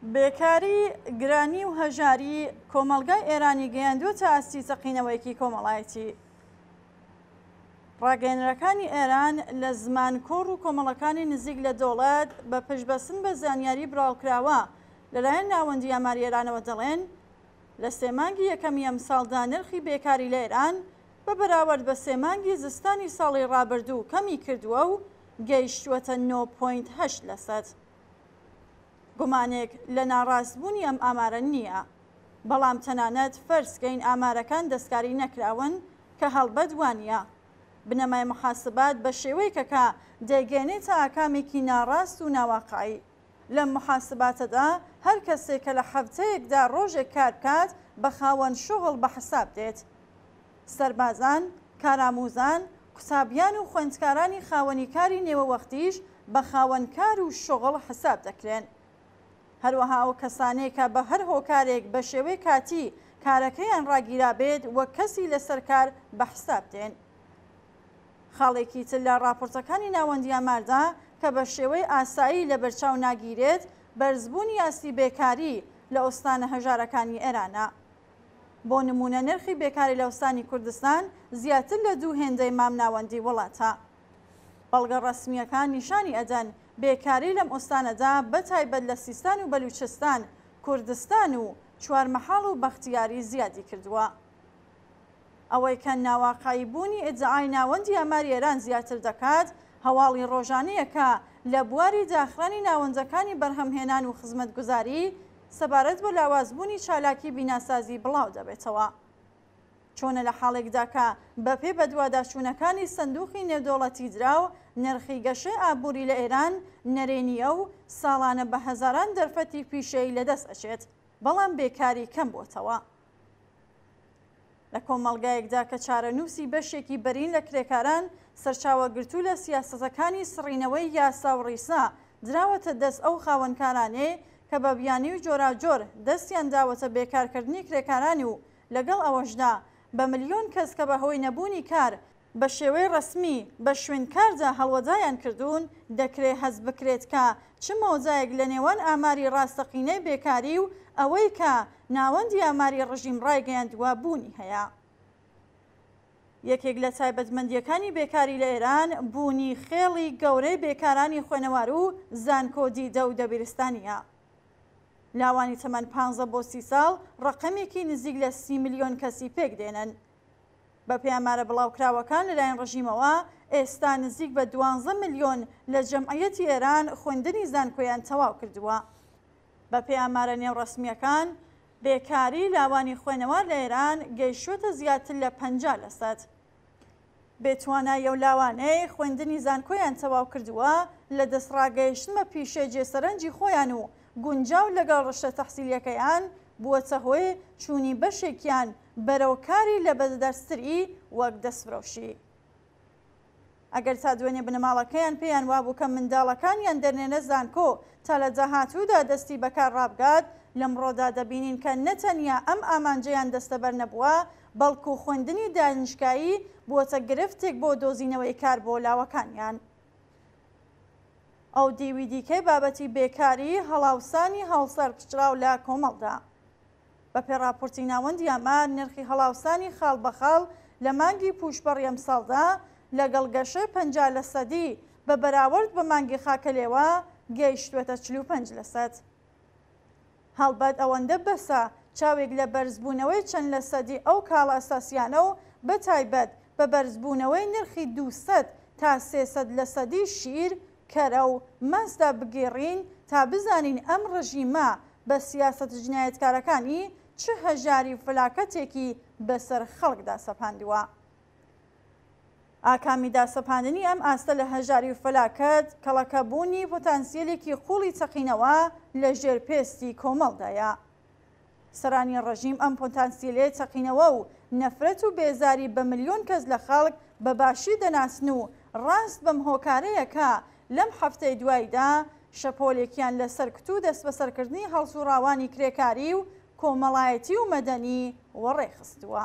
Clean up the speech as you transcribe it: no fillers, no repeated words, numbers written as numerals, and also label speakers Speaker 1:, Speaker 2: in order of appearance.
Speaker 1: بێکاری، گرانی و هەژاری کۆمەڵگای ئێرانی گەیاندووەتە ئاستی تەقینەوەیەکی کۆمەڵایەتی. ڕاگەیەنەرەکانی ئێران لە زمان کۆڕ و کۆمەڵەکانی نزیک لە دەوڵەت بە پشتبەستن بە زانیاری بڵاوکراوە لەلایەن ناوەندی ئاماری ئێرانەوە دەڵێن لە سێ مانگی یەکەمی ئەمساڵدا نرخی بێکاری لە ئێران بە بەراوەرد بە سێ مانگی زستانی ساڵی ڕابردوو کەمی کردووە و گەیشتووەتە 9.8 لەسەد. گومانێک لە ناڕاستبوونی ئەم ئامارە نییە، بەڵام تەنانەت فەرز کەین ئامارەکان دەستکاری نەکراون کە هەڵبەت وانییە. بنەمای محاسبات بە شێوەیەکە کە دەیگەیەنێتە ئاکامێکی ناڕاست و ناواقعی. لەم محاسباتەدا هەر کەسێک کە لە حەفتەیەکدا ڕۆژێک کار بکات بە خاوەن شوغڵ بە حساب دێت. سەربازان، کاراموزان، قوتابیان و خوێندکارانی خاوەنی کاری نێوەوەختیش بە خاوەن کار و شوغڵ حساب دەکرێن. هەروەها ئەو کەسانەی کە بە هەر هۆکارێک بە شێوەی کاتی کارەکەیان ڕاگیرابێت وەک کەسی لەسەر کار بە حساب دێن. خاڵێکی تر لە ڕاپۆرتەکانی ناوەندی ئاماردا کە بە شێوەی ئاسایی لەبەرچاو ناگیرێت، بەرزبوونی ئاستی بێکاری لە ئوستانە هەژارەکانی ئێرانە. بۆ نموونە نرخی بێکاری لە ئوستانی کوردستان زیاتر لە دوو هێندەی مامناوەندی وڵاتە. بەڵگە ڕەسمییەکان نیشانی ئەدەن بێکاری لەم ئوستانەدا بە تایبەت لە سیستان و بەلوچستان، کوردستان و چوارمەحاڵ و بەختیاری زیادی کردووە. ئەوەی کە ناواقعی بوونی ئیدعای ناوەندی ئاماری ئێران زیاتر دەکات، هەواڵی ڕۆژانەیە کە لە بواری داخرانی ناوەندەکانی بەرهەمهێنان و خزمەتگوزاری سەبارەت بە لاوازبوونی چالاکی بیناسازی بڵاو دەبێتەوە. چۆنە لە حاڵێکدا کە بەپێی بەدواداچوونەکانی سندووقی نێودەوڵەتی دراو، نرخی گەشەی ئابووری لە ئێران نەرێنییە و ساڵانە بە هەزاران دەرفەتی پیشەیی لەدەست ئەچێت، بەڵام بێکاری کەم بۆتەوە. لە کۆمەڵگایەکدا کە چارەنووسی بەشێکی بەرین لە کرێکاران سەرچاوەگرتوو لە سیاسەتەکانی سڕینەوەی یاسا و ڕیسا دراوەتە دەست ئەو خاوەنکارانەی کە بە بیانووی جۆراوجۆر دەستیان داوەتە بێکارکردنی کرێکاران و لەگەڵ ئەوەشدا بە ملیۆن کەس کە بە هۆی نەبوونی کار بە شێوەی ڕەسمی بە شوێن کاردا هەڵوەدایان کردوون، دەکرێ هەست بکرێت کە چ مەودایەک لە نێوان ئاماری ڕاستەقینەی بێکاری و ئەوەی کە ناوەندی ئاماری ڕژیم ڕایگەیاندووە بوونی هەیە. یەکێک لە تایبەتمەندییەکانی بێکاری لە ئێران بوونی خێڵی گەورەی بێکارانی خوێنەوار و زانکۆ دیدە و دەبیرستانییە. لاوانی تەمەن پانزە بۆ 30 ساڵ ڕەقەمێکی نزیک لە 30 ملیۆن کەسی پێک دێنن. بەپێی ئامارە بڵاوکراوەکان لەلایەن ڕژیمەوە، ئێستا نزیک بە دوانزە ملیۆن لە جەمعیەتی ئێران خوێندنی زانکۆیان تەواو کردووە. بەپێی ئامارە نێوڕەسمییەکان، بێکاری لاوانی خوێنەوار لە ئێران گەیشتووەتە زیاتر لە 50 لەسەد. بێتوانایی ئەو لاوانەی خوێندنی زانکۆیان تەواو کردووە لە دەستڕاگەیشتن بە پیشەی جێسەرەنجی خۆیان و گونجاو لەگەڵ ڕشتە تەحسیلییەکەیان، بووەتە هۆی چوونی بەشێکیان بەرەو کاری لەبەردەستتری وەک دەستفرۆشی. ئەگەر تا دوێنێ بنەماڵەکەیان پێیان وابوو کە منداڵەکانیان دەنێرنە زانکۆ تا لە داهاتوودا دەستی بەکار ڕابگات، لەمڕۆدا دەبینین کە نەتەنیا ئەم ئامانجەیان دەستەبەر نەبووە، بەڵکو خوێندنی دانشگایی بووەتە گرفتێک بۆ دۆزینەوەی کار بۆ لاوەکانیان. ئەو دیوی دیکەی بابەتی بێکاری، هەڵاوسانی هەڵسەرپچڕاو لە کۆمەڵدا. بەپێی ڕاپۆرتی ناوەندی ئامار، نرخی هەڵاوسانی خاڵ بە خاڵ لە مانگی پووشپەڕی ئەمساڵدا لەگەڵ گەشەی 50 لەسەدی بە بەراورد بە مانگی خاکەلێوە گەیشتووەتە 45 لەسەد. هەڵبەت ئەوەندە بەسە چاوێک لە بەرزبوونەوەی چەند لەسەدی ئەو کاڵا ئەساسییانە و بەتایبەت بە بەرزبوونەوەی نرخی 200 تا 300 لەسەدی شیر، کەرە و ماستدا بگێڕین تا بزانین ئەم ڕژیمە بە سیاسەتە جنایەتکارەکانی چ هەژاری و فەلاکەتێکی بەسەر خەڵکدا سەپاندووە. ئاکامی داسەپاندنی ئەم ئاستە لە هەژاری و فەلاکەت، کەڵەکەبوونی پۆتانسیەلێکی قووڵی چەقینەوە لە ژێر پێستی کۆمەڵدایە. سەرانی ڕژیم ئەم پۆتانسیلەی چەقینەوە و نەفرەت و بێزاری بە ملیۆن کەس لە خەڵک بە باشی دەناسن و ڕاست بەم هۆکارەیە کە لەم هەفتەی دواییدا شەپۆلێکیان لە سەرکوت و دەستبەسەرکردنی هەڵسووڕاوانی کرێکاری و کۆمەڵایەتی و مەدەنی وەڕێخستووە.